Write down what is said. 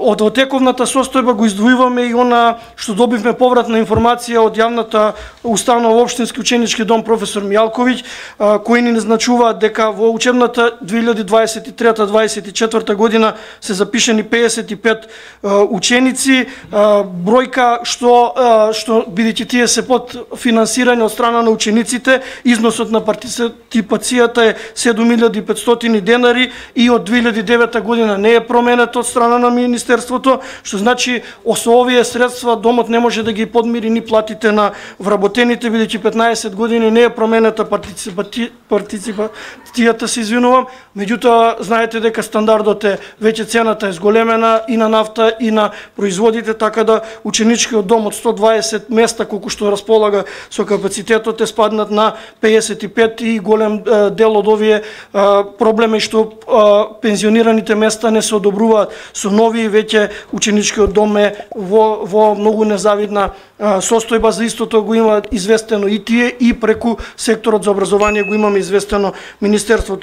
Од тековната состојба го издвојуваме и она што добивме повратна информација од јавната установа Општински ученички дом професор Мијалковиќ, кои ни назначуваат дека во учебната 2023-2024 година се запишени 55 ученици, бројка што бидејќи тие се под финансирање од страна на учениците, износот на партиципацијата е 7500 денари и од 2009 година не е променет од страна на Министерството, што значи со овие средства домот не може да ги подмири ни платите на вработените, бидејќи 15 години не е променета партиципацијата, се извинувам. Меѓутоа, знаете дека стандардот е веќе цената е зголемена и на нафта и на производите, така да ученичкиот дом од 120 места колку што располага со капацитетот е спаднат на 55 и голем дел од овие проблеми што пензионираните места не се одобруваат со нови, веќе ученичкиот дом е во многу незавидна состојба. За истото го има известено и тие, и преку секторот за образование го имаме известено Министерството.